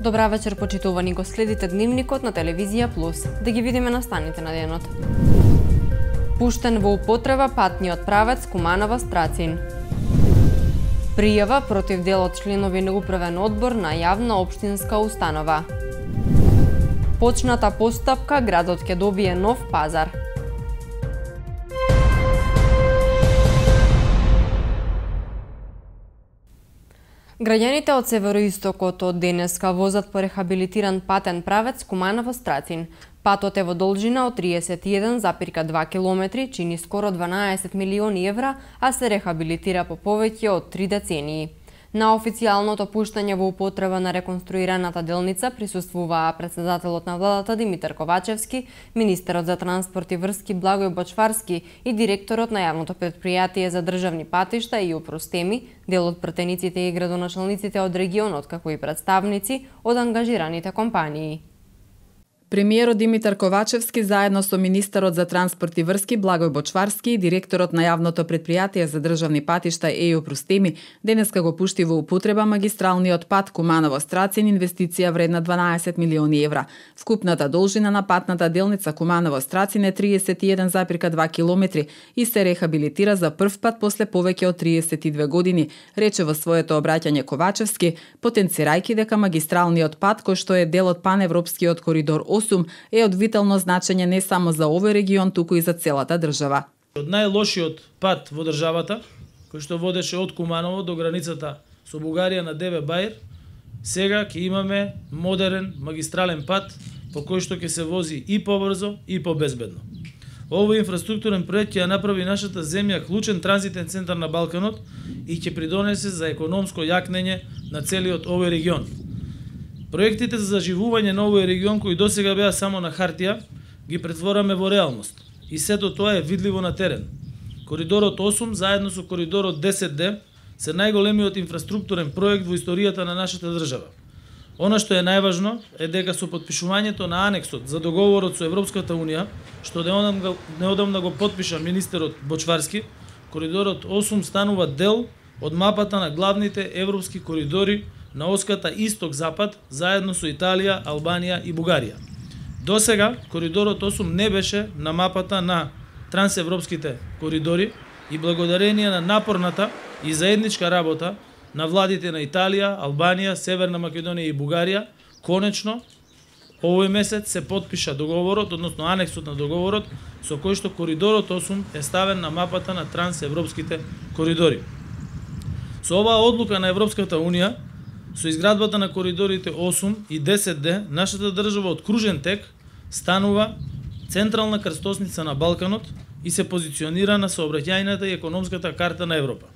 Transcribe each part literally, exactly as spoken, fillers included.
Добра вечер, почитувани, го следите Дневникот на Телевизија Плюс. Да ги видиме настаните на денот. Пуштен во употреба патниот правец Куманово-Страцин. Пријава против дел од членови на управен одбор на јавна општинска установа. Почната постапка, градот ќе добие нов пазар. Граѓаните од североистокот од денеска возат по рехабилитиран патен правец Куманово-Страцин. Патот е во должина од триесет и еден запирка два километри, чини скоро дванаесет милиони евра, а се рехабилитира по повеќе од три децении. На официјалното пуштање во употреба на реконструираната делница присуствуваа председателот на владата Димитар Ковачевски, министерот за транспорт и врски Благој Бочварски и директорот на јавното претпријатие за државни патишта и Упростеми, дел од пратениците и градоначалниците од регионот, како и представници од ангажираните компании. Премиерот Димитар Ковачевски заедно со министерот за транспорт и врски Благој Бочварски и директорот на јавното претпријатие за државни патишта ЕЈО Упростеми денеска го пушти во употреба магистралниот пат Куманово-Страцин, инвестиција вредна дванаесет милиони евра. Вкупната должина на патната делница Куманово-Страцин е триесет и еден запирка два километри и се рехабилитира за прв пат после повеќе од триесет и две години, рече во своето обраќање Ковачевски, потенцирајќи дека магистралниот пат, кој што е дел од паневропскиот коридор е од витално значење не само за овој регион, туку и за целата држава. Од најлошиот пат во државата, кој што водеше од Куманово до границата со Бугарија на Деве Баир, сега ќе имаме модерен магистрален пат по кој што ќе се вози и побрзо и побезбедно. Овој инфраструктурен проект ќе ја направи нашата земја клучен транзитен центар на Балканот и ќе придонесе за економско јакнење на целиот овој регион. Проектите за заживување на овој регион, кои досега беа само на хартија, ги претвораме во реалност. И сето тоа е видливо на терен. Коридорот осум, заедно со коридорот десет Д, се најголемиот инфраструктурен проект во историјата на нашата држава. Она што е најважно е дека со потпишувањето на анексот за договорот со Европската Унија, што неодамна го потпиша министерот Бочварски, коридорот осум станува дел од мапата на главните европски коридори на оската исток-запад, заедно со Италија, Албанија и Бугарија. Досега, коридорот осум не беше на мапата на трансевропските коридори и благодарение на напорната и заедничка работа на владите на Италија, Албанија, Северна Македонија и Бугарија, конечно, овој месец се потпиша договорот, односно анексот на договорот, со кој што коридорот осум е ставен на мапата на трансевропските коридори. Со оваа одлука на Европската Унија, со изградбата на коридорите осум и десет Д, нашата држава од кружен тек станува централна крстосница на Балканот и се позиционира на сообраќајната и економската карта на Европа.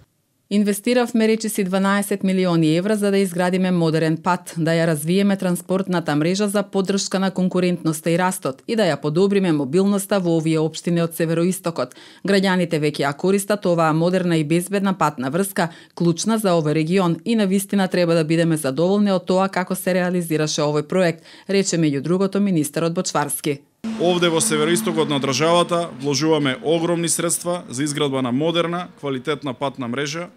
Инвестиравме речиси дванаесет милиони евра за да изградиме модерен пат, да ја развиеме транспортната мрежа за поддршка на конкурентноста и растот и да ја подобриме мобилноста во овие општини од североистокот. Граѓаните веќе ја користат оваа модерна и безбедна патна врска, клучна за овој регион и навистина треба да бидеме задоволни од тоа како се реализираше овој проект, рече меѓу другото министерот Бочварски. Овде во североистокот на државата вложуваме огромни средства за изградба на модерна, квалитетна патна мрежа,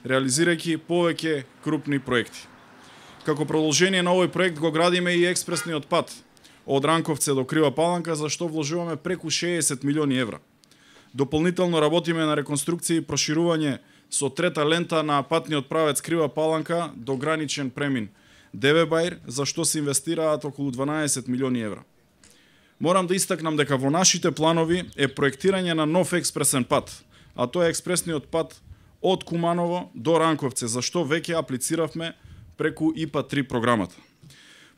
реализирајќи повеќе крупни проекти. Како продолжение на овој проект го градиме и експресниот пат од Ранковце до Крива Паланка, за што вложуваме преку шеесет милиони евра. Дополнително работиме на реконструкција и проширување со трета лента на патниот правец Крива Паланка до граничен премин Деве Баир, за што се инвестираат околу дванаесет милиони евра. Морам да истакнам дека во нашите планови е проектирање на нов експресен пат, а тоа е експресниот пат од Куманово до Ранковце, за што веќе аплициравме преку И П А три програмата.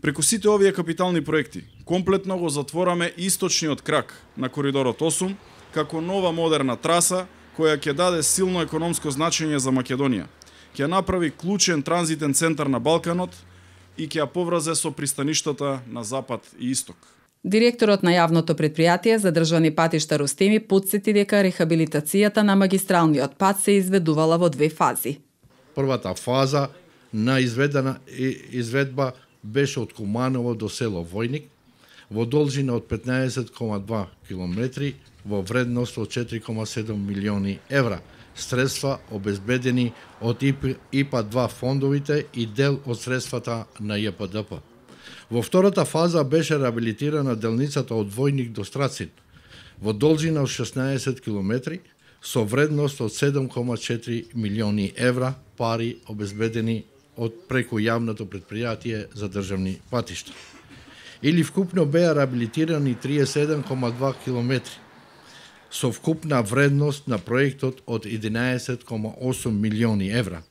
Преку сите овие капитални проекти, комплетно го затвораме источниот крак на коридорот осум, како нова модерна траса, која ќе даде силно економско значење за Македонија. Ќе направи клучен транзитен центар на Балканот и ќе ја поврзе со пристаништата на Запад и Исток. Директорот на јавното претпријатие за државни патишта Рустеми потсети дека рехабилитацијата на магистралниот пат се изведувала во две фази. Првата фаза на изведена изведба беше од Куманово до село Војник во должина од петнаесет кома два километри во вредност од четири кома седум милиони евра, средства обезбедени од И П А два фондовите и дел од средствата на Ј П Д П. Во втората фаза беше реабилитирана делницата од Војник до Страцин, во должина од шеснаесет километри, со вредност од седум кома четири милиони евра пари обезбедени од преку јавното предпријатие за државни патишта. Или вкупно беа реабилитирани триесет и седум кома два километри, со вкупна вредност на проектот од единаесет кома осум милиони евра.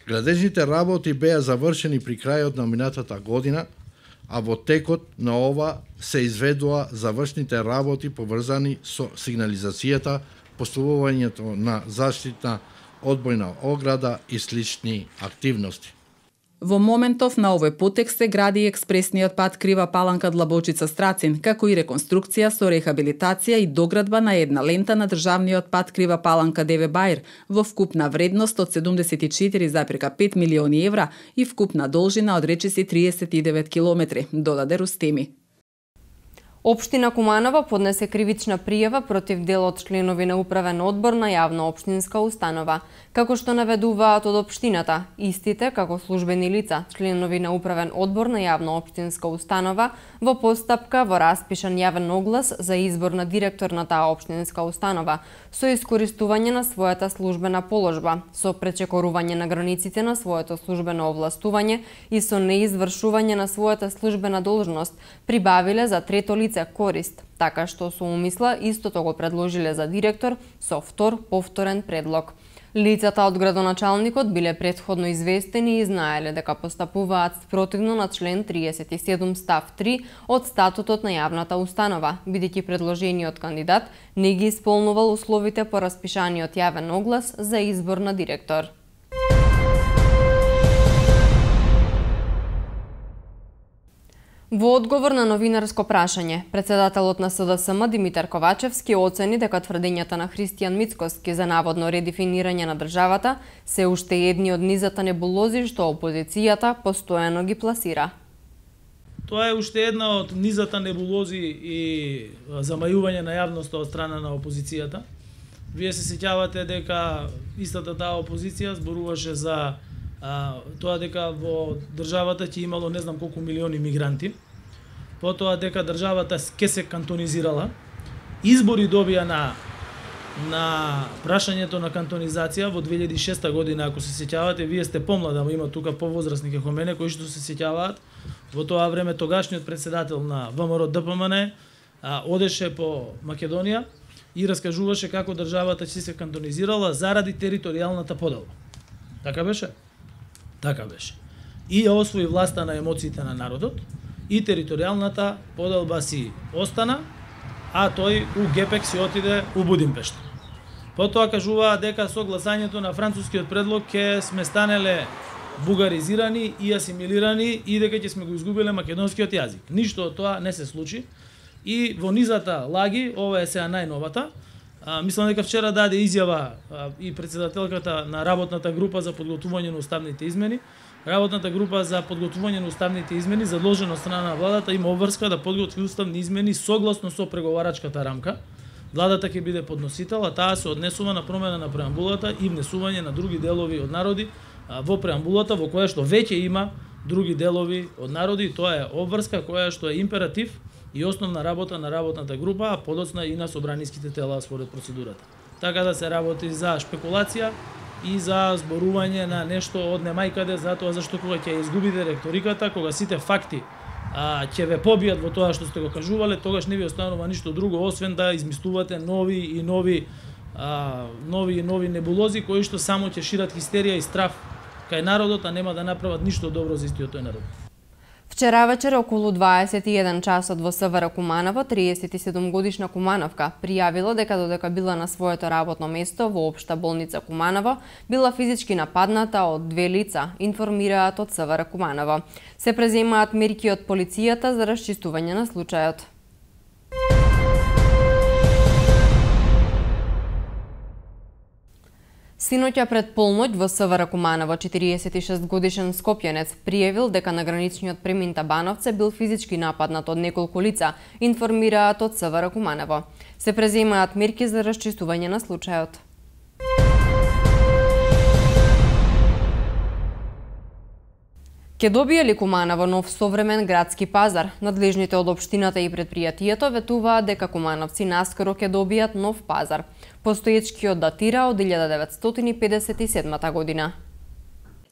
Градежните работи беа завршени при крајот на минатата година, а во текот на ова се изведува завршните работи поврзани со сигнализацијата, поставувањето на заштитна одбојна ограда и слични активности. Во моментов на овој потек се гради експресниот пат Крива Паланка Длабочица Страцин, како и реконструкција со рехабилитација и доградба на една лента на државниот пат Крива Паланка Деве Бајр во вкупна вредност од седумдесет и четири зарез пет милиони евра и вкупна должина од речиси триесет и девет километри, додаде Рустеми. Општина Куманово поднесе кривична пријава против дел од членови на управен одбор на јавна општинска установа. Како што наведуваат од општината, истите, како службени лица, членови на управен одбор на јавна општинска установа, во постапка во распишан јавен оглас за избор на директор на таа општинска установа, со искористување на својата службена положба, со пречекорување на границите на своето службено овластување и со неизвршување на својата службена должност, прибавиле за трето лице корист, така што со умисла истото го предложиле за директор со втор повторен предлог. Лицата од градоначалникот биле претходно известени и знаеле дека постапуваат спротивно на член триесет и седум став три од статутот на јавната установа, бидејќи предложениот кандидат не ги исполнувал условите по распишаниот јавен оглас за избор на директор. Во одговор на новинарско прашање, председателот на С Д С М Димитар Ковачевски оцени дека тврдењата на Христијан Мицкоски за наводно редефинирање на државата се уште едни од низата небулози што опозицијата постојано ги пласира. Тоа е уште една од низата небулози и замајување на јавноста од страна на опозицијата. Вие се сеќавате дека истата таа опозиција зборуваше за а, тоа дека во државата ќе имало не знам колку милиони мигранти, потоа дека државата ке се кантонизирала, избори добија на на прашањето на кантонизација во две илјади и шеста година, ако се сеќавате, вие сте помлада, ама има тука повозрастни како мене кои што се сеќаваат. Во тоа време тогашниот председател на В М Р Д П М Н а, одеше по Македонија и раскажуваше како државата ќе се кантонизирала заради територијалната поделба. Така беше? Така беше. И ја освои власта на емоциите на народот и територијалната поделба си остана, а тој у Гепек си отиде у Будимпешта. Потоа кажуваа дека со гласањето на францускиот предлог ќе сме станеле бугаризирани и асимилирани и дека ќе сме го изгубиле македонскиот јазик. Ништо од тоа не се случи. И во низата лаги, ова е сега најновата, а, мислам дека вчера даде изјава а, и председателката на работната група за подготвување на уставните измени. Работната група за подготвување на уставните измени, задолжена од страна на владата, има обврска да подготви уставни измени согласно со преговарачката рамка. Владата ќе биде подносител, а таа се однесува на промена на преамбулата и внесување на други делови од народи а, во преамбулата, во која што веќе има други делови од народи. Тоа е обврска која што е императив и основна работа на работната група, а подоцна и на собраниските тела според процедурата. Така да се работи за шпекулација и за зборување на нешто од немајкаде, затоа зашто кога ќе изгубите ректориката, кога сите факти а, ќе ве побијат во тоа што сте го кажувале, тогаш не ви останува ништо друго освен да измислувате нови и нови а, нови и нови небулози кои што само ќе шират хистерија и страф кај народот, а нема да направат ништо добро за истиот тој народ. Вчера вечер околу дваесет и еден часот во С В Р Куманово, триесет и седум годишна Кумановка пријавила дека додека била на своето работно место во Општа болница Куманово, била физички нападната од две лица, информираат од С В Р Куманово. Се преземаат мерки од полицијата за расчистување на случајот. Синоќа пред полноќ во С В Р Куманово, четириесет и шест годишен скопјанец пријавил дека на граничниот премин Табановце бил физички нападнат од неколку лица, информираат од С В Р Куманово. Се преземаат мерки за расчистување на случајот. Ке добие ли Куманово нов современ градски пазар? Надлежните од општината и предпријатието ветуваат дека кумановци наскоро ке добијат нов пазар. Постоечкиот датира од илјада деветстотини педесет и седма година.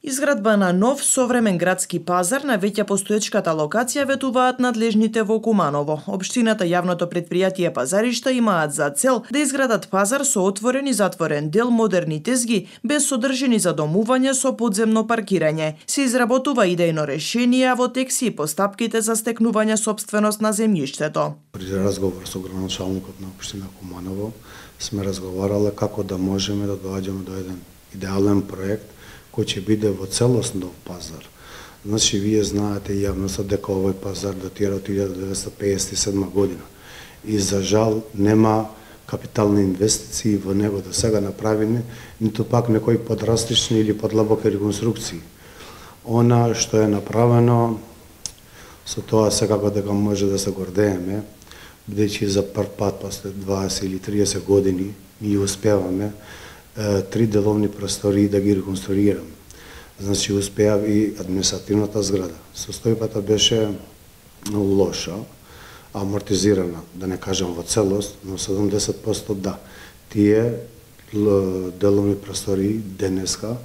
Изградба на нов современ градски пазар на веќе постоечката локација ветуваат надлежните во Куманово. Општината и јавното предпријатие Пазаришта имаат за цел да изградат пазар со отворен и затворен дел, модерни тезги, без содржини за домување со подземно паркирање. Се изработува идејно решение, а во тек си и постапките за стекнување собственост на земјиштето. При разговор со градоначалникот на општина Куманово сме разговарале како да можеме да доаѓаме до еден идеален проект кој ќе биде во целост нов пазар. Значи, вие знаете јавноста дека овој пазар датира од илјада деветстотини педесет и седма година. И за жал нема капитални инвестиции во него до сега направени, ниту пак некои подрастични или подлабоки реконструкции. Она што е направено, со тоа секако дека може да се гордееме, бидејќи за прв пат после дваесет или триесет години ние успеваме три деловни простории да ги реконструираме. Значи, успеа и административната зграда. Состојбата беше лоша, амортизирана, да не кажам во целост, но седумдесет проценти да. Тие деловни простории денеска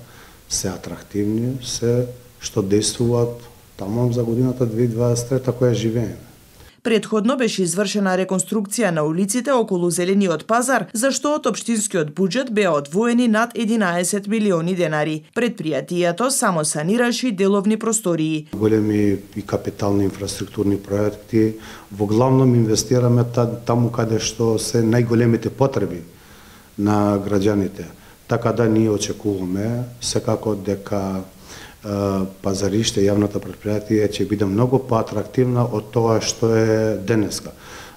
се атрактивни, се што действуваат таму за годината две илјади дваесет и трета која живееме. Предходно беше извршена реконструкција на улиците околу Зелениот пазар, за што од општинскиот буџет беа одвоени над единаесет милиони денари. Предпријатието само санираше деловни простории. Големи и капитални инфраструктурни проекти, во главном инвестираме таму каде што се најголемите потреби на граѓаните. Така да ние очекуваме секако дека Пазариште, јавното предпријатие ќе биде многу поатрактивна од тоа што е денеска.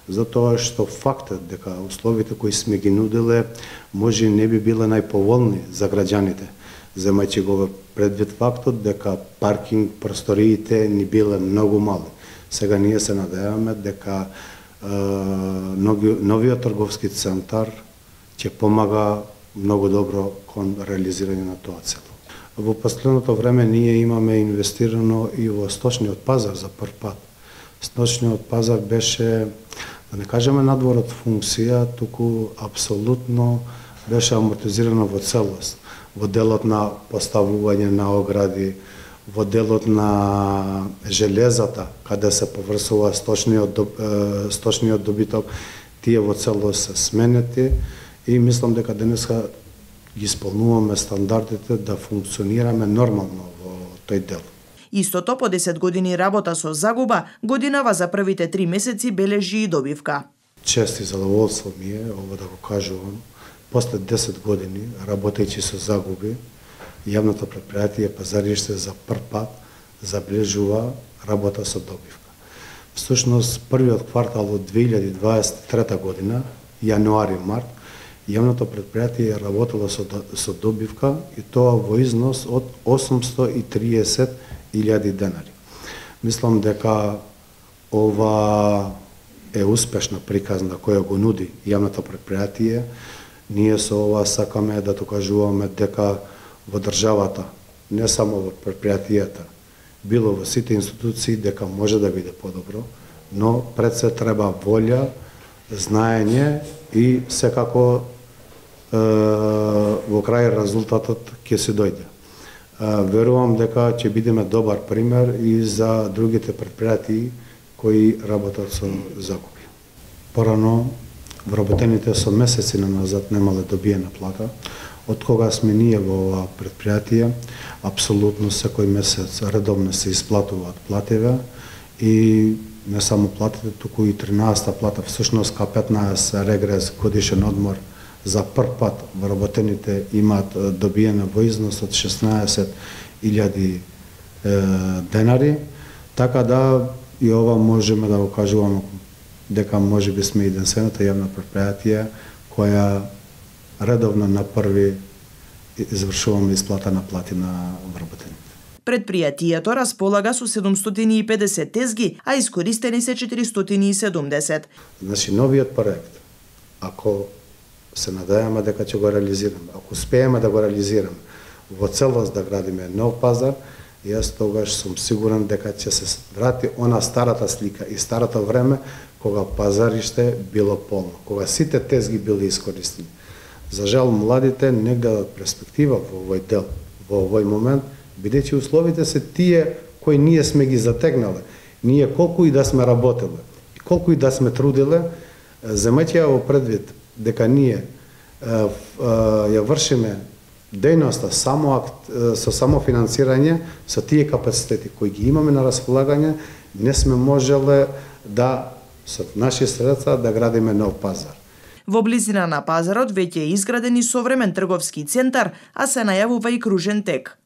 Затоа што фактот дека условите кои сме ги нудиле може не би биле најповолни за граѓаните, земајќи го предвид фактот дека паркинг просториите ни биле многу мали. Сега ние се надеваме дека е, новиот трговски центар ќе помага многу добро кон реализирање на тоа цел. Во последното време ние имаме инвестирано и во сточниот пазар за прв пат. Сточниот пазар беше, да не кажеме надвор од функција, туку апсолутно беше амортизирано во целост. Во делот на поставување на огради, во делот на железата, каде се поврсува сточниот, сточниот добиток, тие во целост се сменети и мислам дека денеска ги исполнуваме стандардите да функционираме нормално во тој дел. Истото по десет години работа со загуба, годинава за првите три месеци бележи и добивка. Чест и задоволство ми е, ово да го кажувам, после десет години, работејќи со загуби, јавното предпријатие Пазариште за прв пат забележува работа со добивка. Всушност, првиот квартал од две илјади дваесет и трета година, јануари-март, јавното предпријатие работело со, со добивка и тоа во износ од осумстотини и триесет илјади денари. Мислам дека ова е успешна приказна која го нуди јавното предпријатие. Ние со ова сакаме да докажуваме дека во државата, не само во предпријатијата, било во сите институции, дека може да биде подобро, но пред се треба волја, знаење и секако во крај резултатот ќе се дојде. Верувам дека ќе бидеме добар пример и за другите предпријатии кои работат со загуби. Порано, вработените со месеци назад немале добиена плата. Од кога сме ние во ова предпријатие, апсолутно секој месец редовно се исплатуваат плативе и не само платите, туку и тринаесетта плата, всушност ка петнаесет регрес годишен одмор за прв пат вработените имаат добиена во износ од шеснаесет илјади денари, така да и ова можеме да го кажуваме дека може би сме единствената јавна предпријатие која редовно на први извршуваме исплата на плати на вработените. Предпријатието располага со седумстотини и педесет тезги, а искористени се четиристотини и седумдесет. Значи, новиот проект, ако се надејаме дека ќе го реализираме, ако успееме да го реализираме, во целост да градиме нов пазар, Јас тогаш сум сигурен дека ќе се врати она старата слика и старото време кога пазариште било полно, кога сите тезги били искористени. За жал, младите не гледат перспектива во овој дел, во овој момент, бидејќи условите се тие кои ние сме ги затегнале. Ние колку и да сме работеле, и колку и да сме труделе, земејќи ја во предвид дека ние ја вршиме дејноста само со само финансирање, со тие капацитети кои ги имаме на располагање, не сме можеле да со наши средства да градиме нов пазар. Во близина на пазарот веќе е изграден и современ трговски центар, а се најавува и кружен тек.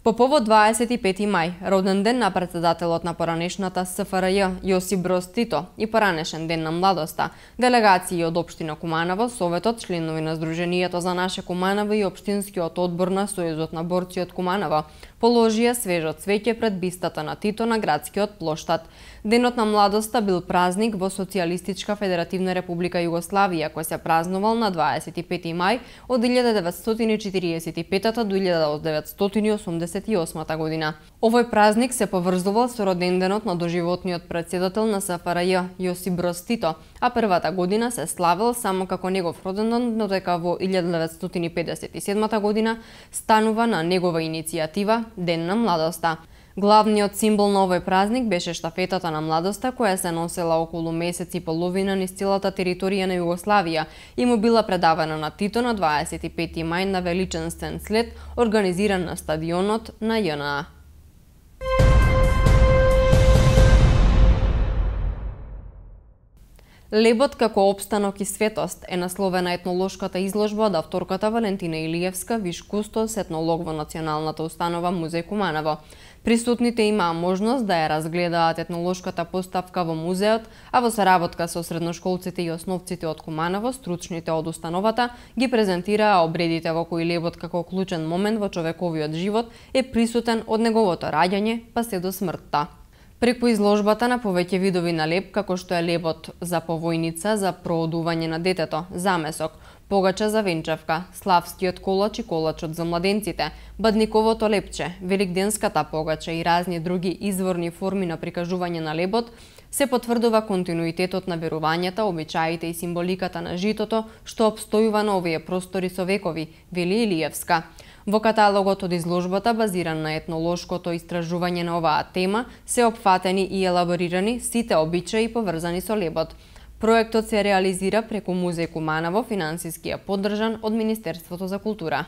По повод дваесет и пети мај, роден ден на претседателот на поранешната С Ф Р Ј Јосип Броз Тито и поранешен ден на младоста, делегации од општина Куманово, Советот, членови на Сдруженијето за наше Куманово и општинскиот одбор на Сојузот на борци од Куманово положија свежо цвеќе пред бистата на Тито на градскиот плоштад. Денот на младоста бил празник во Социјалистичка Федеративна Република Југославија, кој се празнувал на дваесет и пети мај од илјада деветстотини четириесет и петата до илјада деветстотини осумдесет и осмата година. Овој празник се поврзувал со роденденот на доживотниот претседател на С Ф Р Ј Јосип Броз Тито, а првата година се славел само како негов роденден, но дека во илјада деветстотини педесет и седмата година станува на негова иницијатива Ден на младоста. Главниот символ на овој празник беше штафетата на младоста, која се носела околу месец и половина низ целата територија на Југославија и му била предавана на Тито на дваесет и пети мај на величанствен слет, организиран на стадионот на Ј Н А. Лебот како опстанок и светост е насловена етнолошката изложба од авторката Валентина Илиевска, виш кустос, етнолог во Националната установа Музеј Куманово. Присутните имаа можност да ја разгледаат етнолошката поставка во музеот, а во соработка со средношколците и основците од Куманово, стручните од установата ги презентираа обредите во кои лебот како клучен момент во човековиот живот е присутен од неговото раѓање па се до смртта. Преку изложбата на повеќе видови на леб, како што е лебот за повојница, за проодување на детето, замесок, погача за венчавка, славскиот колач и колачот за младенците, бадниковото лепче, великденската погача и разни други изворни форми на прикажување на лебот, се потврдува континуитетот на верувањата, обичаите и символиката на житото, што обстојува на овие простори со векови, вели Илиевска. Во каталогот од изложбата, базиран на етнолошкото истражување на оваа тема, се опфатени и елаборирани сите обичаи поврзани со лебот. Проектот се реализира преку Музеј Куманово, финансиски е поддржан од Министерството за култура.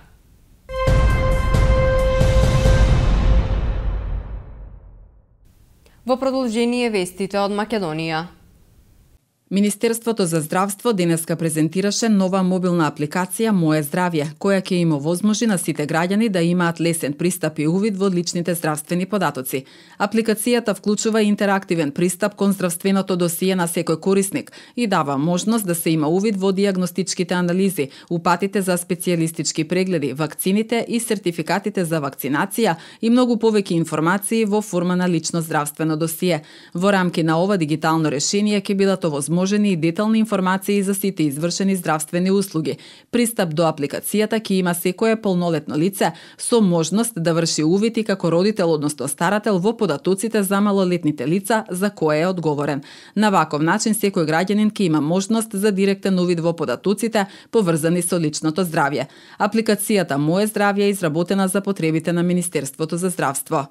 Во продолжение вестите од Македонија. Министерството за здравство денеска презентираше нова мобилна апликација Моје здравје, која ќе им овозможи на сите граѓани да имаат лесен пристап и увид во личните здравствени податоци. Апликацијата вклучува интерактивен пристап кон здравственото досие на секој корисник и дава можност да се има увид во дијагностичките анализи, упатите за специјалистички прегледи, вакцините и сертификатите за вакцинација и многу повеќе информации во форма на лично здравствено досие. Во рамки на ова дигитално решение ќе бидат овозможени и детални информации за сите извршени здравствени услуги. Пристап до апликацијата ќе има секое полнолетно лице со можност да врши увид и како родител, односно старател, во податоците за малолетните лица за кое е одговорен. На ваков начин секој граѓанин ќе има можност за директен увид во податоците поврзани со личното здравје. Апликацијата Моје здравје е изработена за потребите на Министерството за здравство.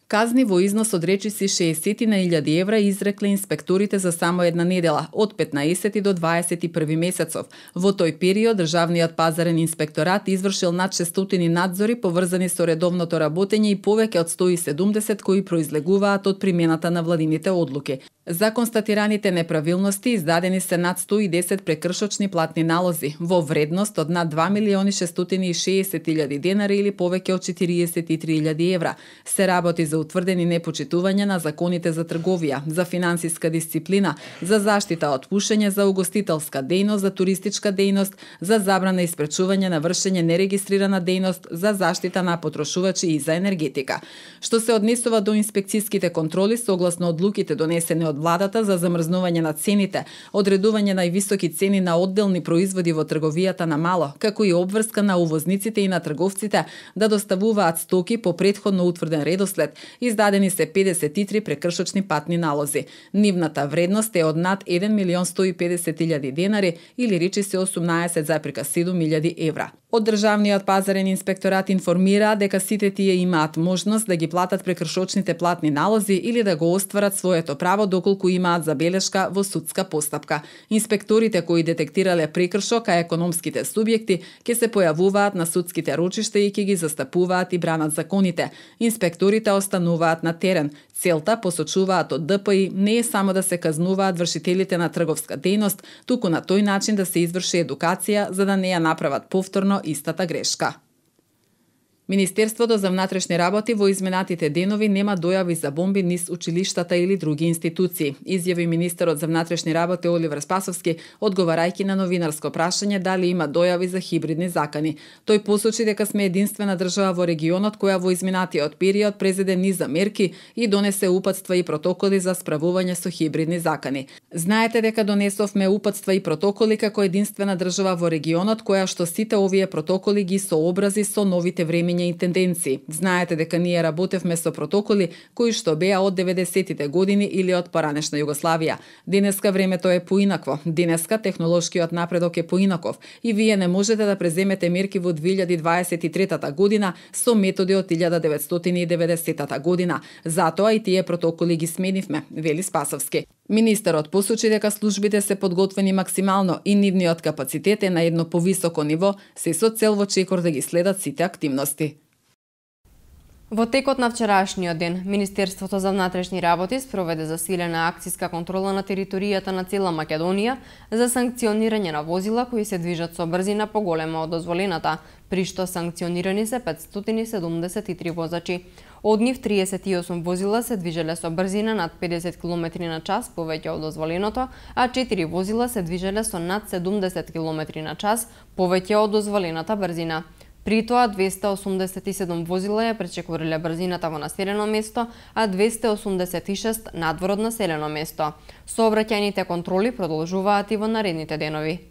Казни во износ од речиси шеесет на илјади евра изрекле инспекторите за само една недела, од петнаесети до дваесет и први месецов. Во тој период, Државниот пазарен инспекторат извршил над шестстотини надзори поврзани со редовното работење и повеќе од сто и седумдесет кои произлегуваат од примената на владините одлуки. За констатираните неправилности издадени се над сто и десет прекршочни платни налози во вредност од над два милиони шестстотини и шеесет илјади денари или повеќе од четириесет и три илјади евра. Се работи за утврдени непочитување на законите за трговија, за финансиска дисциплина, за заштита од пушење, за угостителска дејност, за туристичка дејност, за забрана и спречување на вршење нерегистрирана дејност, за заштита на потрошувачи и за енергетика. Што се однесува до инспекцијските контроли, согласно одлуките донесени од владата за замрзнување на цените, одредување највисоки цени на одделни производи во трговијата на мало, како и обврска на увозниците и на трговците да доставуваат стоки по претходно утврден редослед, издадени се педесет и три прекршочни патни налози. Нивната вредност е од над еден милион сто и педесет илјади денари или речи се осумнаесет зарез седум илјади евра. Од Државниот пазарен инспекторат информира дека сите тие имаат можност да ги платат прекршочните платни налози или да го остварат своето право доколку имаат забелешка во судска постапка. Инспекторите кои детектирале прекршок, а економските субјекти ќе се појавуваат на судските рочишта и ќе ги застапуваат и бранат законите. Инспекторите остануваат на терен. Целта, посочуваат од Д П И, не е само да се казнуваат вршителите на трговска дејност, туку на тој начин да се изврши едукација за да не ја направат повторно истата грешка. Министерството за внатрешни работи во изминатите денови нема дојави за бомби низ училиштата или други институции, изјави министерот за внатрешни работи Оливер Спасовски, одговарајќи на новинарско прашање дали има дојави за хибридни закани. Тој посочи дека сме единствена држава во регионот која во изминатиот период презеде низ мерки и донесе упатства и протоколи за справување со хибридни закани. Знаете дека донесовме упатства и протоколи како единствена држава во регионот која што сите овие протоколи ги сообрази со новите времења и тенденции. Знаете дека ние работевме со протоколи кои што беа од деветдесетите години или од поранешна Југославија. Денеска времето е поинакво. Денеска технолошкиот напредок е поинаков и вие не можете да преземете мерки во две илјади дваесет и трета година со методи од илјада деветстотини и деветдесетата година. Затоа и тие протоколи ги сменивме, вели Спасовски. Министерот посочи дека службите се подготвени максимално и нивниот капацитет е на едно повисоко ниво, се со цел во чекор да ги следат сите активности. Во текот на вчерашниот ден, Министерството за внатрешни работи спроведе засилена акциска контрола на територијата на цела Македонија за санкционирање на возила кои се движат со брзина поголема од дозволената, при што санкционирани се петстотини и седумдесет и три возачи. Од нив триесет и осум возила се движеле со брзина над педесет километри на час повеќе од дозволеното, а четири возила се движеле со над седумдесет километри на час повеќе од дозволената брзина. При тоа двесте осумдесет и седум возила ја пречекориле брзината во населено место, а двесте осумдесет и шест надвор од населено место. Сообраќајните контроли продолжуваат и во наредните денови.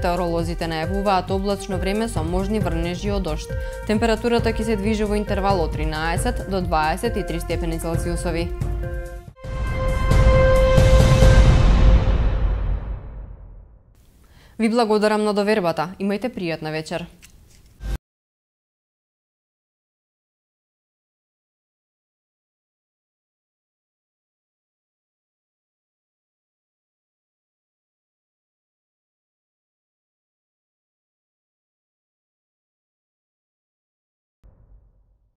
Метеоролозите најавуваат облачно време со можни врнежи од дожд. Температурата ќе се движи во интервал од тринаесет до дваесет и три степени Целзиусови. Ви благодарам на довербата. Имајте пријатна вечер.